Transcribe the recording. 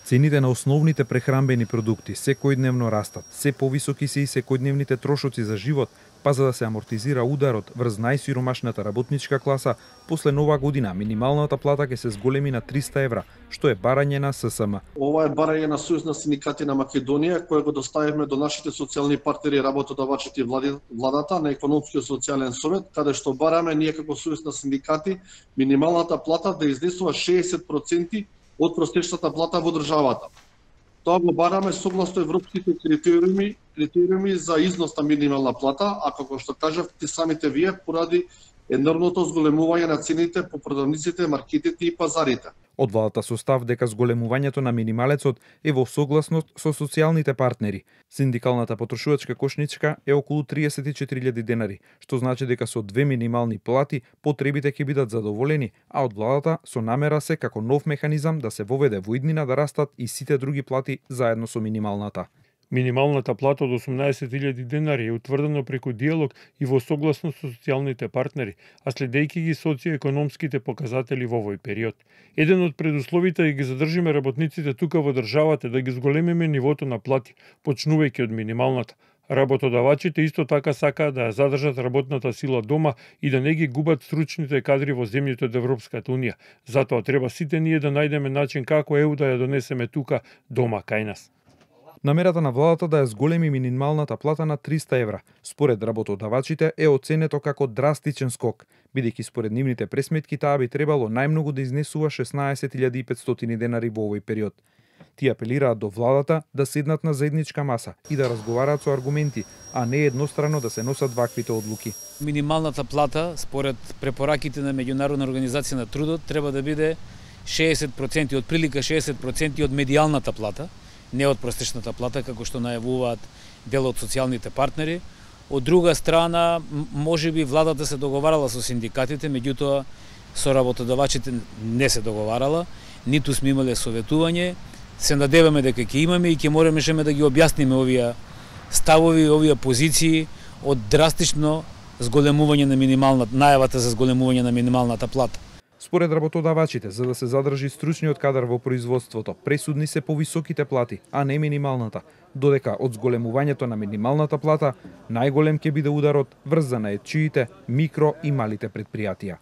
Цените на основните прехранбени продукти секојдневно растат, се повисоки се и секојдневните трошоци за живот, па за да се амортизира ударот врз најсиромашната работничка класа, после нова година минималната плата ќе се зголеми на 300 евра, што е барање на ССМ. Ова е барање на Сојуз на синдикати на Македонија, кое го доставивме до нашите социјални партнери, работодавачите и владата на економскиот социјален совет, каде што бараме ние како Сојуз на синдикати минималната плата да изнесува 60% од просечната плата во државата. Тоа го бараме согласно европските критериуми за износ на минимална плата, а како што кажавте самите вие, поради енормното зголемување на цените по продавниците, маркетите и пазарите. Од владата со став дека зголемувањето на минималецот е во согласност со социјалните партнери. Синдикалната потрошувачка кошничка е околу 34.000 денари, што значи дека со 2 минимални плати потребите ќе бидат задоволени, а од владата со намера се како нов механизам да се воведе во иднина да растат и сите други плати заедно со минималната. Минималната плата од 18.000 денари е утврдено преку диалог и во согласност со социјалните партнери, а следејќи ги социјоекономските показатели во овој период. Еден од предусловите е да ги задржиме работниците тука во државата е да ги зголемиме нивото на плати, почнувајќи од минималната. Работодавачите исто така сакаат да ја задржат работната сила дома и да не ги губат стручните кадри во земјите од Европската унија. Затоа треба сите ние да најдеме начин како ЕУ да ја донесеме тука дома кај нас. Намерата на владата да ја зголеми минималната плата на 300 евра, според работодавачите е оценето како драстичен скок, бидејќи според нивните пресметки таа би требало најмногу да изнесува 16.500 денари во овој период. Тие апелираат до владата да седнат на заедничка маса и да разговараат со аргументи, а не еднострано да се носат ваквите одлуки. Минималната плата, според препораките на Меѓународна организација на трудот, треба да биде 60%, од прилика 60% од медијалната плата, не од просечната плата, како што најавуваат дел од социјалните партнери. Од друга страна, можеби владата се договарала со синдикатите, меѓутоа со работодавачите не се договарала, ниту сме имале советување. Се надеваме дека ќе имаме и ќе моремеше да ги објасниме овие ставови, овие позиции од драстично зголемување на најавата за зголемување на минималната плата. Според работодавачите, за да се задржи стручниот кадар во производството, пресудни се повисоките плати, а не минималната, додека од зголемувањето на минималната плата најголем ќе биде ударот врз занаетчиите, микро и малите предпријатија.